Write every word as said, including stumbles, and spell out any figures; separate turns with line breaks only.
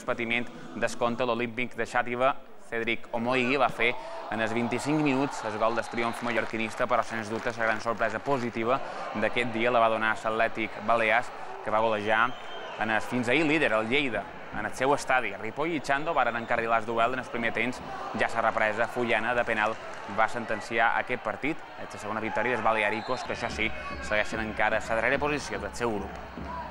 patiment descompte l'olímpic de Xàtiva. Cédric Omoigui va fer en els vint-i-cinc minuts el gol del triomf mallorquinista, però sens dubte la gran sorpresa positiva d'aquest dia la va donar l'Atlètic Balears, que va golejar en el fins ahir líder, el Lleida, en el seu estadi. Ripoll i Xando varen encarrilar el duel en el primer temps. Ja la represa Fullana de penal va sentenciar aquest partit. És la segona victòria dels balearicos, que això sí, segueixen encara a la darrera posició del seu grup.